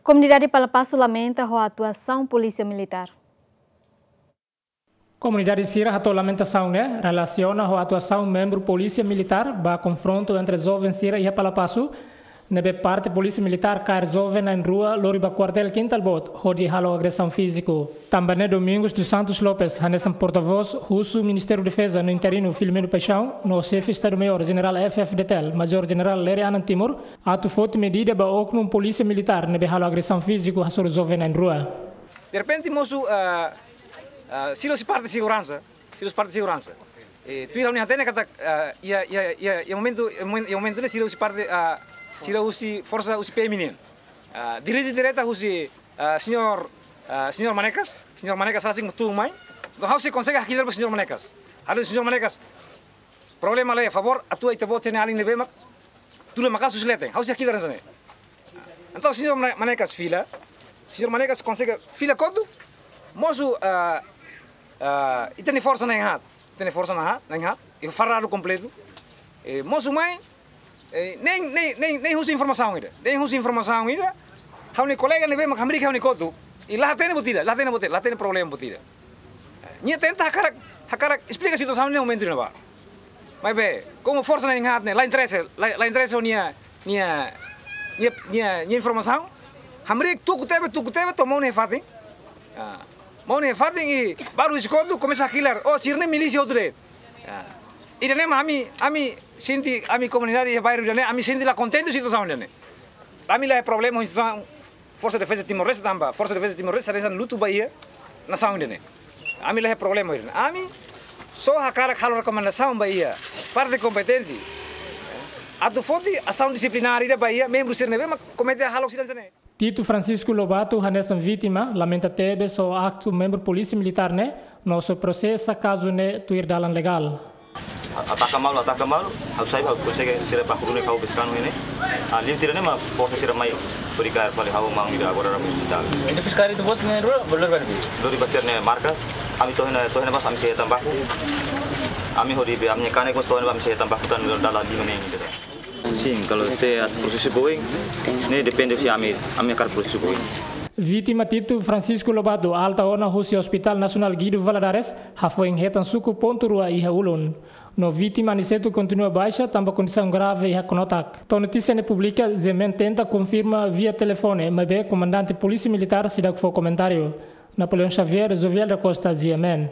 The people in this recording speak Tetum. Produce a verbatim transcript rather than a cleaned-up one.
Komunidade Palapasu lamenta ho atuasaun Polísia Militár. Komunidade sira hato'o lamentasaun ne'e relasiona ho atuasaun membru Polísia Militár ba konfrontu entre joven sira iha Palapasu, ne'ebé parte Polísia Militár kaer joven na'in-rua lori ba kuartél Kintal Boot hodi halo agresaun fíziku. Tanba ne'e Domingos dos Santos Lopes, hanesan portavós husu Ministériu Defeza no interinu Filomeno Paixão, no Xefe Estadu Maiór Jenerál F F D T L, Majór Jenerál Lere Anan Timur, atu foti medida ba oknum Polísia Militár ne'ebé halo agresaun fíziku hasoru joven na'in-rua. Derrepente mosu, ah, ah, sira husi parte seguransa, sira husi parte seguransa. Eh, tuir ha'u-nia hatene katak, ah, iha, iha, iha, iha momentu, iha momen-, iha momentu ne'e sira husi parte, ah, sira husi forsa husi P M nian. Ah, dirije direta husi, ah, señór, ah, señór Manekas, señór Manekas rasik mak tun mai. Entaun ha'u sei konsege hakilar ba señór Manekas. Halo señór Manekas, problema laiha, favór atu ita-boot sira-ne'e alin ne'ebé mak tuda maka'as husi leten. Ha'u sei hakilar hanesan ne'e. Entaun señór Mane-, Manekas fila, señór Manekas konsege fila kotuk, mosu, ah, ah, ita-nia forsa na'in-haat, ita-nia forsa na'in-haat, na'in-haat, iha faradu kompletu. Eh, mosu mai, eh, nein, nein, nein, nein husu informasaun ida, nein husu informasaun ida. Ha'u-nia kolega ne'ebé mak hamriik ha'u-nia kotuk, i la hatene buat ida, la hatene buat ida, la hatene problema buat ida. Nia tenta hakarak, hakarak esplika situasaun ne'e momentu ne'ebá. Maibé, komu forsa na'in-haat ne'e la interese, la, la interese ho nia, nia, nia, nia, nia informasaun. Hamriik tuku tebe, tuku tebe, to'o monu iha fatin. Ah, monu iha fatin i balu husi kotuk komesa hakilar, oh, sira-ne'e milísia hotu de'it. Ah, ida-ne'e mak ami, ami sente, ami komunidade iha bairru ida-ne'e, ami sente la kontente situasaun ida-ne'e. Ami la iha problema ho instituisaun Forsa Defeza Timor-Leste tanba Forsa Defeza Timor-Leste hanesan lutu ba iha nasaun ida-ne'e. Ami la iha problema ho ida-ne'e. Ami só hakarak halo rekomendasaun ba iha parte kompetente atu foti asaun disiplinár ida ba iha membru sira ne'ebé mak komete hahalok sira hanesan ne'e. Tito Francisco Lobato, hanesan vítima, lamenta tebes ho aktu membru Polísia Militár ne'e, no sei prosesa kazu ne'e tuir dalan legál. A-, ataka malu, ataka malu, ha'u sai, ha'u konsege sira ba kurune kau beskanu ini. Ah, liu tira ne'e mak forsa sira mai, hodi kaer fali ha'u maun ida agora rame hospitál. Entaun fiskál ita-boot na'in-rua, lori ba ne'ebé? Lori ba sira-nia markas, ami to'o iha ne'e, to'o iha ne'e bas ami sei hetan baku. Ami hodi be, ami-nia kanek mós to'o iha ne'e bá ami sei hetan baku tan dala lima ne'e ida. Sin, kalau se atu prosesu ba oin, ne'e depende husi ami, ami hakarak prosesu ba oin. Vítima Tito Francisco Lobato alta ona husi Hospital Nasionál Guido Valadares, hafoin hetan suku pontu rua iha ulun. No vítima Aniceto kontinua baixa tanba kondisaun grave iha knotak. To'o notísia ne'e publika, G M N tenta konfirma via telefone, maibé komandante Polísia Militár seidauk fó komentáriu. Napoleão Xavier, Jovial da Costa, G M N.